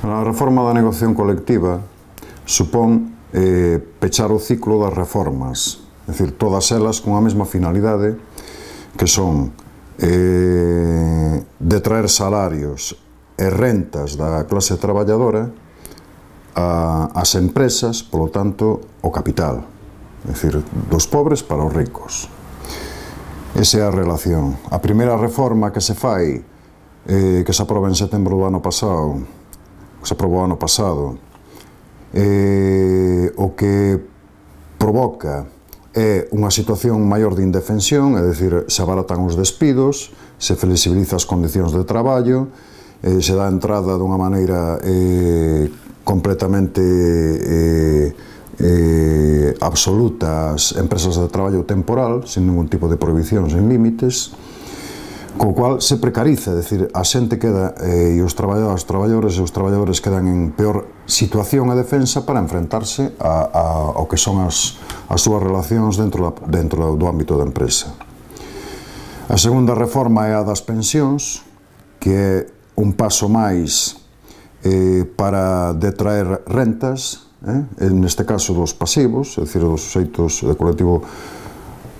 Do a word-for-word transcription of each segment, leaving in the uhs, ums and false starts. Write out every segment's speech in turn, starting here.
A reforma da negociación colectiva supón eh, pechar o ciclo das reformas, é dicir, todas elas con a mesma finalidade, que son eh, detraer salarios e rentas da clase traballadora a, as empresas, polo tanto, o capital, é dicir, dos pobres para os ricos. Esa é a relación. A primeira reforma que se fai, eh, que se aproba en setembro do ano pasado, que se aprobou ano pasado, eh, o que provoca é unha situación maior de indefensión, é dicir, se abaratan os despidos, se flexibiliza as condicións de traballo, eh, se dá entrada dunha maneira eh, completamente eh, eh, absoluta ás empresas de traballo temporal, sin ningún tipo de prohibición, sin límites, co cual se precariza, é dicir, a xente queda, eh, e os traballadores, os traballadores e os traballadores quedan en peor situación e defensa para enfrentarse a, a, ao que son as, as súas relacións dentro, da, dentro do ámbito da empresa. A segunda reforma é a das pensións, que é un paso máis eh, para detraer rentas, eh, neste caso dos pasivos, é dicir, dos suxeitos de colectivo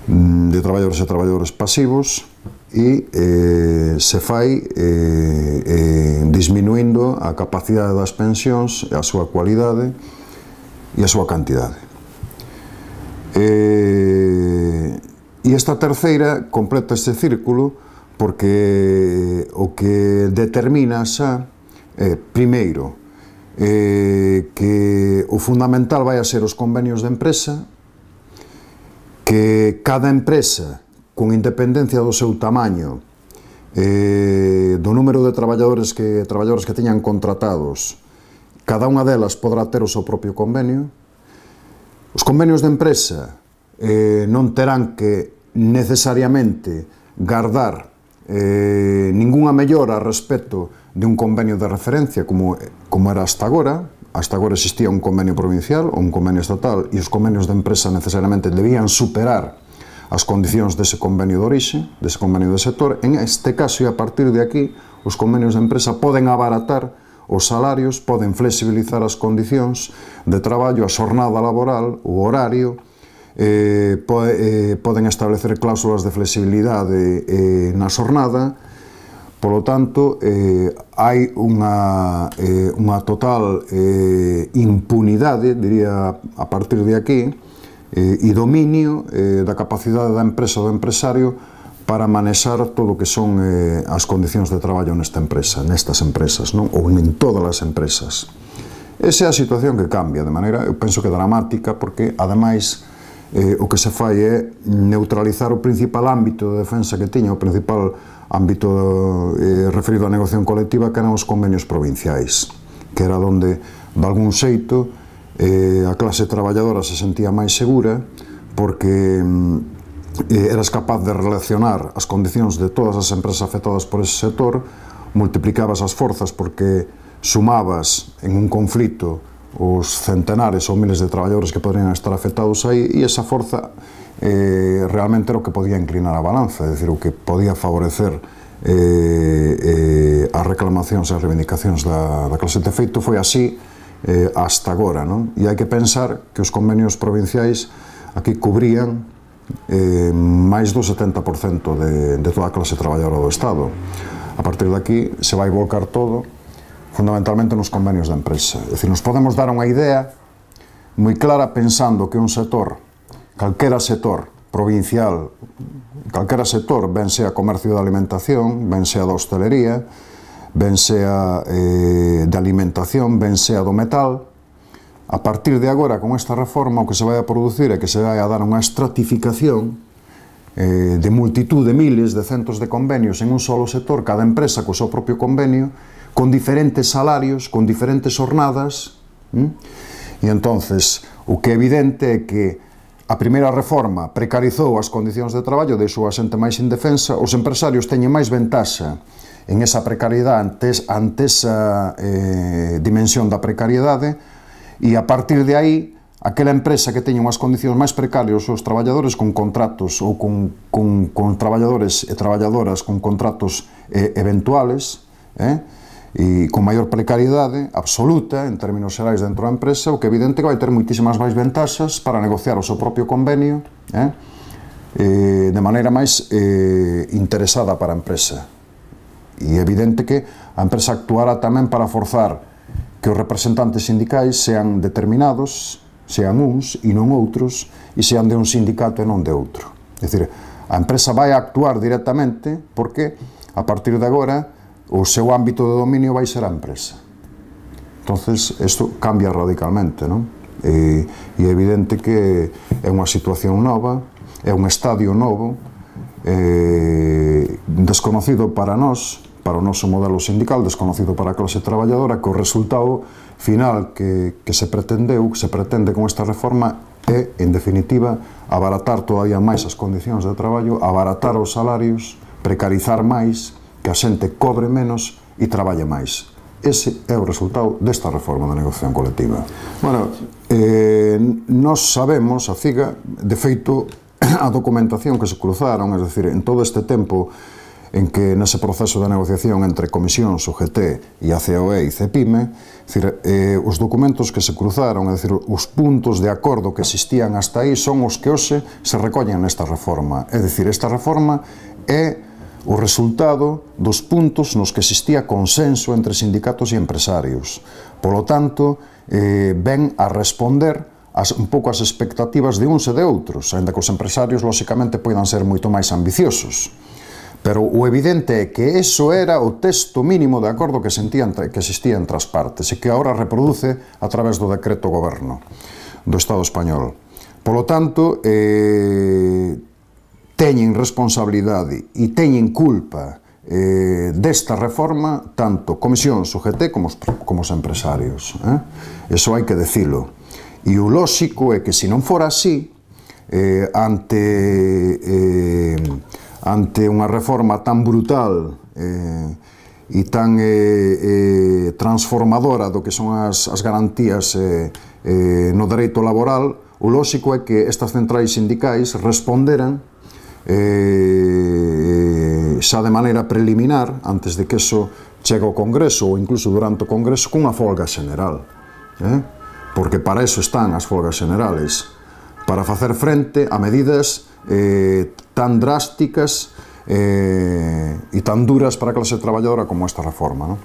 de traballadores e traballadores pasivos, e eh, se fai eh, eh, disminuindo a capacidade das pensións, a súa cualidade e a súa cantidade. Eh, e esta terceira completa este círculo porque o que determina xa é, primeiro, eh, que o fundamental vai a ser os convenios de empresa, que cada empresa, con independencia do seu tamaño, eh, do número de traballadores que, traballadores que teñan contratados, cada unha delas podrá ter o seu propio convenio. Os convenios de empresa eh, non terán que necesariamente guardar eh, ningunha mellora respecto de un convenio de referencia como, como era hasta agora. Hasta agora existía un convenio provincial ou un convenio estatal e os convenios de empresa necesariamente debían superar as condicións dese convenio de orixe, dese convenio de sector. En este caso, e a partir de aquí, os convenios de empresa poden abaratar os salarios, poden flexibilizar as condicións de traballo, a xornada laboral, o horario, eh, po, eh, poden establecer cláusulas de flexibilidade eh, na xornada. Polo tanto, eh, hai unha, eh, unha total eh, impunidade, diría, a partir de aquí, e dominio da capacidade da empresa ou do empresario para manexar todo o que son as condicións de traballo nesta empresa, nestas empresas, non? Ou en todas as empresas. Esa é a situación que cambia de maneira, eu penso que dramática, porque, ademais, eh, o que se fai é neutralizar o principal ámbito de defensa que tiña, o principal ámbito eh, referido á negociación colectiva, que eran os convenios provinciais, que era onde, de algún xeito, Eh, a clase traballadora se sentía máis segura porque eh, eras capaz de relacionar as condicións de todas as empresas afectadas por ese sector, multiplicabas as forzas porque sumabas en un conflito os centenares ou miles de traballadores que podrían estar afectados aí, e esa forza eh, realmente era o que podía inclinar a balanza, é dicir, o que podía favorecer eh, eh, as reclamacións e as reivindicacións da, da clase. De feito, foi así Eh, hasta agora, non? E hai que pensar que os convenios provinciais aquí cubrían eh, máis do setenta por cento de, de toda a clase traballadora do Estado. A partir de aquí se vai volcar todo fundamentalmente nos convenios de empresa. É dicir, nos podemos dar unha idea moi clara pensando que un sector, calquera sector provincial, calquera sector, ben sea comercio de alimentación, ben sea da hostelería, ben sea eh, de alimentación, ben sea do metal, a partir de agora, con esta reforma, o que se vai a producir é que se vai a dar unha estratificación eh, de multitud de miles, de centos de convenios en un solo sector, cada empresa co seu propio convenio, con diferentes salarios, con diferentes jornadas, ¿m? E entonces, o que é evidente é que a primeira reforma precarizou as condicións de traballo, deixou a xente máis indefensa, os empresarios teñen máis ventaxa en esa precariedade, ante, ante esa eh, dimensión da precariedade, e a partir de aí, aquela empresa que teña unhas condicións máis precarias os traballadores con contratos ou con, con, con traballadores e traballadoras con contratos eh, eventuales, eh, e con maior precariedade absoluta en términos xerais dentro da empresa, o que é evidente que vai ter moitísimas máis ventaxas para negociar o seu propio convenio eh, eh, de maneira máis eh, interesada para a empresa. E é evidente que a empresa actuará tamén para forzar que os representantes sindicais sean determinados, sean uns e non outros, e sean de un sindicato e non de outro. É dicir, a empresa vai actuar directamente porque, a partir de agora, o seu ámbito de dominio vai ser a empresa. Entonces, isto cambia radicalmente, non? E, e é evidente que é unha situación nova, é un estadio novo, eh, desconocido para nós, para o noso modelo sindical, desconocido para a clase traballadora, que o resultado final que, que se pretendeu, que se pretende con esta reforma é, en definitiva, abaratar todavía máis as condicións de traballo, abaratar os salarios, precarizar máis, que a xente cobre menos e traballe máis. Ese é o resultado desta reforma da negociación colectiva. Bueno, eh, nós sabemos, a CIGA, de feito, a documentación que se cruzaron, es decir, en todo este tempo en que nese proceso de negociación entre Comisións, U G T e a C O E e CEPIME, es decir, eh, os documentos que se cruzaron, es decir, os puntos de acordo que existían hasta aí son os que hoxe se recollen nesta reforma. É dicir, esta reforma é o resultado dos puntos nos que existía consenso entre sindicatos e empresarios. Polo tanto, eh, ven a responder as, un pouco as expectativas de uns e de outros, ainda que os empresarios, lóxicamente, poidan ser moito máis ambiciosos. Pero o evidente é que eso era o texto mínimo de acordo que, sentían, que existía entre as partes e que agora reproduce a través do decreto goberno do Estado español. Polo tanto, eh, teñen responsabilidade e teñen culpa eh, desta reforma tanto Comisións, U G T, como os, como os empresarios. Eh? Eso hai que decilo. E o lóxico é que, se non fora así, eh, ante, eh, ante unha reforma tan brutal eh, e tan eh, eh, transformadora do que son as, as garantías eh, eh, no dereito laboral, o lóxico é que estas centrais sindicais responderan Eh, xa de maneira preliminar, antes de que eso chegue ao Congreso ou incluso durante o Congreso, cunha folga general, eh? Porque para eso están as folgas generales, para facer frente a medidas eh, tan drásticas eh, e tan duras para a clase traballadora como esta reforma, non?